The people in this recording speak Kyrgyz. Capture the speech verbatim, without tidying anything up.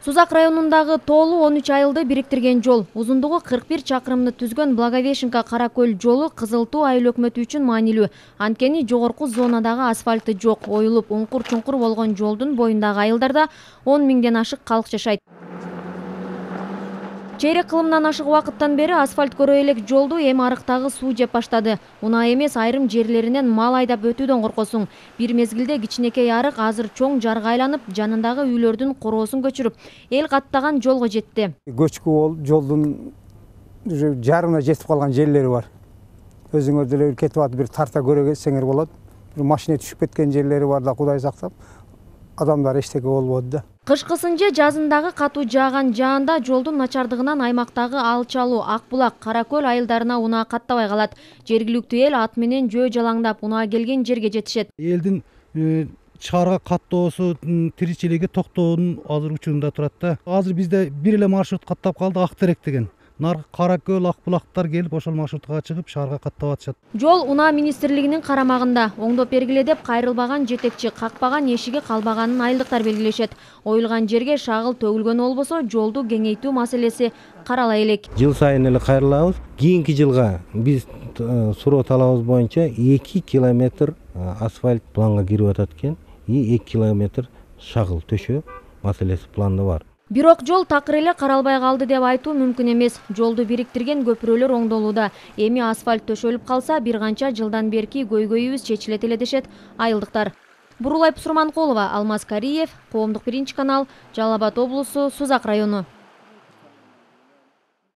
Сузак районундагы Тоолу он үч айылды бириктирген жол, узундугу кырк бир чакырымды түзгөн Благовещенка Каракөл жолу Кызыл Туу айыл өкмөтү үчүн маанилүү. Анткени жогорку зонадагы асфальты жок, оюлуп уңкур-чуңкур болгон жолдун боюндагы айылдарда он миңден ашык калк жашайт. Чейрек кылымдан ашык убакыттан бери асфальт көрө элек жолду эми арыктагы суу жеп баштады. Унаа эмес, айрым жерлеринен мал айдап өтүүдөн коркосуң. Бир мезгилде кичинекей арык азыр чоң жарга айланып, жанындагы үйлөрдүн короосун көчүрүп, эл каттаган жолго жетти. Көчкү болуп, жолдун жарымына жетип калган жерлери бар. Өзүңөр деле кетип атып бир тарта көрө кетсеңер болот. Бир машина түшүп кеткен жерлери бар да, Кудай сактап. Адамдар эчтеке болбоду да. Кышкысын же жазындагы катуу жааган жаанда жолдун начардыгынан аймактагы Алчалуу, Ак Булак, Каракөл айылдарына унаа каттабай калат. Жергиликтүү эл ат менен жөө жалаңдап унаа келген жерге жетишет. Элдин чаарга каттоосу, тиричилиги токтоонун азыр учурунда турат да. Азыр бизде бир эле маршрут каттап калды, Ак Терек деген. Наркы Каракөл, Ак Булактар келип ошол маршрутка чыгып шаарга каттап атышат. Жол унаа министрлигинин карамагында. Оңдоп бергиле деп кайрылбаган жетекчи, какпаган эшиги калбаганын айылдыктар белгилешет. Оюлган жерге шагыл төгүлгөн болбосо, жолду кеңейтүү маселеси карала элек. Жыл сайын эле кайрылабыз. Кийинки жылга биз суроо талабыбыз боюнча эки километр асфальт планга кирип атат экен. И эки километр шагыл төшөө маселеси планда бар. Бирок жол такыр эле каралбай калды деп айтуу мүмкүн эмес. Жолду бириктирген көпүрөлөр оңдолууда. Эми асфальт төшөлүп калса, бир канча жылдан берки көйгөйүбүз чечилет эле дешет айылдыктар. Бурулай Пусурманкулова, Алмаз Кариев, Коомдук биринчи канал, Жалал Абад облусу, Сузак району.